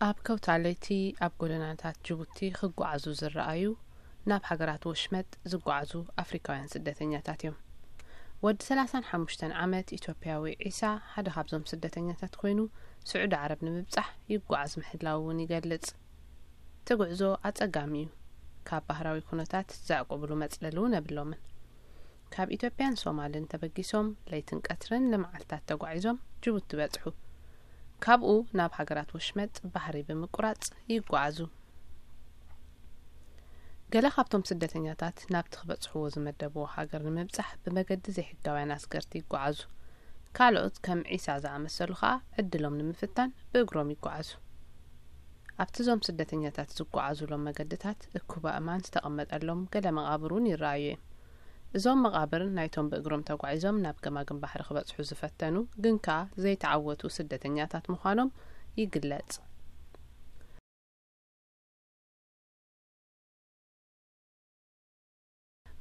ኣብ ከውታ ለይቲ ኣብ ጎደናታት ጅቡቲ ክጓዓዙ ዝረኣዩ፣ ናብ ሃገራት ወሽመጥ ዝጓዓዙ ኣፍሪካውያን ስደተኛታት እዮም። ወዲ ሰላሳን ሓሙሽተን ዓመት ኢትዮጵያዊ ዒሳ ሓደ ካብዞም ስደተኛታት ኮይኑ፣ ስዑዲ ዓረብ ንምብጻሕ ይጓዓዝ ምህላዉ እውን ይገልጽ። እቲ ጉዕዞ ኣጸጋሚ እዩ። ካብ ባህራዊ ኩነታት ዘዕቁብሉ መጽለሊ እውን የብሎምን። ካብ ኢትዮጵያን ሶማልን ተበጊሶም ለይትን ቀትርን ንመዓልታት ተጓዒዞም ጅቡቲ በጽሑ። ካብኡ ናብ ሃገራት ወሽመጥ ባሕሪ ብምቁራጽ ይጓዓዙ። ገለ ካብቶም ስደተኛታት ናብቲ ክበጽሕዎ ዝመደብዎ ሃገር ንምብጻሕ ብመገዲ ዘይሕጋውያን ኣስገርቲ ይጓዓዙ። ካልኦት ከም ዒሳ ዝኣመሰሉ ከኣ ዕድሎም ንምፍታን ብእግሮም ይጓዓዙ። ኣብቲ እዞም ስደተኛታት ዝጓዓዙሎም መገድታት እኩብ ኣእማን ዝተቐመጠሎም ገለ መቓብር እውን ይረኣዩ እዮም። እዞም መቓብር ናይቶም ብእግሮም ተጓዒዞም ናብ ገማግም ባሕሪ ክበጽሑ ዝፈተኑ ግን ከኣ ዘይተዓወቱ ስደተኛታት ምዃኖም ይግለጽ።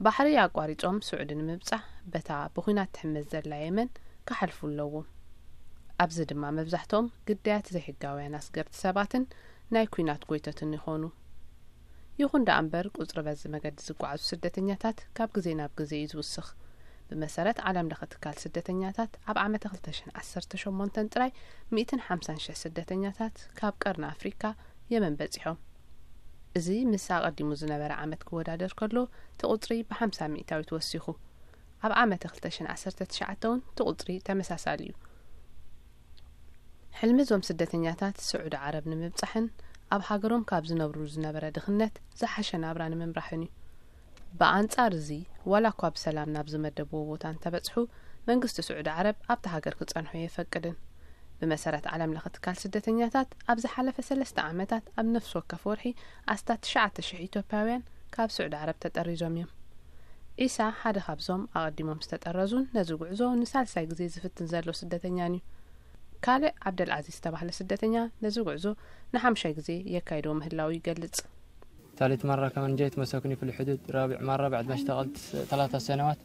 ባሕሪ ኣቋሪጾም ስዑዲ ንምብጻሕ በታ ብኹናት ትሕመስ ዘላ የመን ክሓልፉ ኣለዎም። ኣብዚ ድማ መብዛሕትኦም ግዳያት ዘይሕጋውያን ኣስገርቲ ሰባትን ናይ ኲናት ጎይቶትን ይኾኑ። ይኹን ደኣ እምበር ቁጽሪ በዚ መገዲ ዝጓዓዙ ስደተኛታት ካብ ግዜ ናብ ግዜ እዩ ዝውስኽ። ብመሰረት ዓለም ለኸ ትካል ስደተኛታት ኣብ ዓመተ ክልተ ሽሕን ዓሰርተ ሸሞንተን ጥራይ ሚእትን ሓምሳን ሽሕ ስደተኛታት ካብ ቀርኒ ኣፍሪካ የመን በጺሖም። እዚ ምስ ኣቐዲሙ ዝነበረ ዓመት ክወዳደር ከሎ እቲ ቁጽሪ ብሓምሳ ሚእታዊት ወሲኹ። ኣብ ዓመተ ክልተ ሽሕን ዓሰርተ ትሽዓተ እውን እቲ ቁጽሪ ተመሳሳሊ እዩ። ሕልሚ እዞም ስደተኛታት ስዑዲ ዓረብ ንምብጻሕን ኣብ ሃገሮም ካብ ዝነብሩ ዝነበረ ድኽነት ዝሓሸ ናብራ ንምምራሕን እዩ። ብኣንጻር እዚ ዋላ እኳ ብሰላም ናብ ዝመደብዎ ቦታ እንተበጽሑ መንግስቲ ስዑዲ ዓረብ ኣብቲ ሃገር ክጸንሑ የፈቅድን። ብመሰረት ዓለም ለኸ ትካል ስደተኛታት ኣብ ዝሓለፈ ሰለስተ ዓመታት ኣብ ነፍሲ ወከፍ ወርሒ ኣስታት ትሽዓተ ሽሕ ኢትዮጵያውያን ካብ ስዑዲ ዓረብ ተጠሪዞም እዮም። ዒሳ ሓደ ካብዞም ኣቐዲሞም ዝተጠረዙን ነዚ ጉዕዞ ንሳልሳይ ግዜ ዝፍትን ዘሎ ስደተኛን እዩ። ካልእ ዓብደልዓዚዝ ዝተባህለ ስደተኛ ነዚ ጉዕዞ ንሓምሻይ ግዜ የካይዶ ምህላው ይገልጽ። ثالث مرة كمان جيت مسكوني في الحدود، رابع مرة بعد ما اشتغلت س- ثلاثة سنوات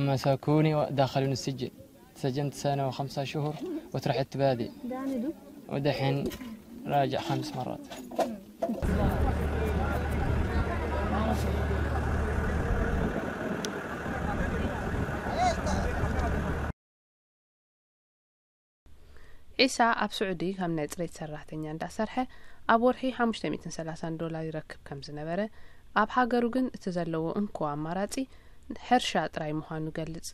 مسكوني ودخلوني السجن. سجنت سنة وخمسة شهور وترحت بادي، ودحين راجع خمس مرات. ዒሳ ኣብ ስዑዲ ከም ናይ ጽሬት ሰራሕተኛ እንዳሰርሐ ኣብ ወርሒ ሓሙሽተ ሚእትን ሰላሳን ዶላር ይረክብ ከም ዝነበረ፣ ኣብ ሃገሩ ግን እቲ ዘለዎ እንኮ ኣማራጺ ሕርሻ ጥራይ ምዃኑ ይገልጽ።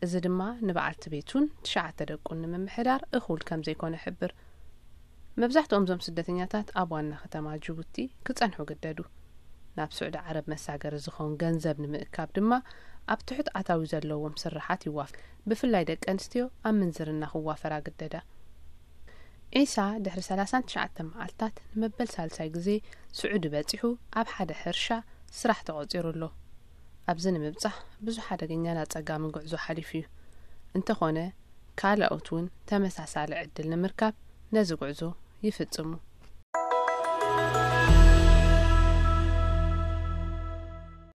እዚ ድማ ንበዓልቲ ቤቱን ትሽዓተ ደቁን ንምምሕዳር እኹል ከም ዘይኮነ ይሕብር። መብዛሕትኦም እዞም ስደተኛታት ኣብ ዋና ከተማ ጅቡቲ ክጸንሑ ግደዱ። ናብ ስዑዲ ዓረብ መሳገሪ ዝኸውን ገንዘብ ንምእካብ ድማ ኣብ ትሑት ኣታዊ ዘለዎም ስራሓት ይዋፍ። ብፍላይ ደቂ ኣንስትዮ ኣብ ምንዝርና ክዋፈራ ግደዳ። ዒሳ ድሕሪ ሰላሳን ትሽዓተ መዓልታት ንመበል ሳልሳይ ግዜ ስዑዲ በጺሑ ኣብ ሓደ ሕርሻ ስራሕ ተቖጺሩ ኣሎ። ኣብዚ ንምብጻሕ ብዙሕ ሓደገኛን ኣጸጋምን ጉዕዞ ሓሊፉ እዩ። እንተኾነ ካልኦት እውን ተመሳሳሊ ዕድል ንምርካብ ነዚ ጉዕዞ ይፍጽሙ።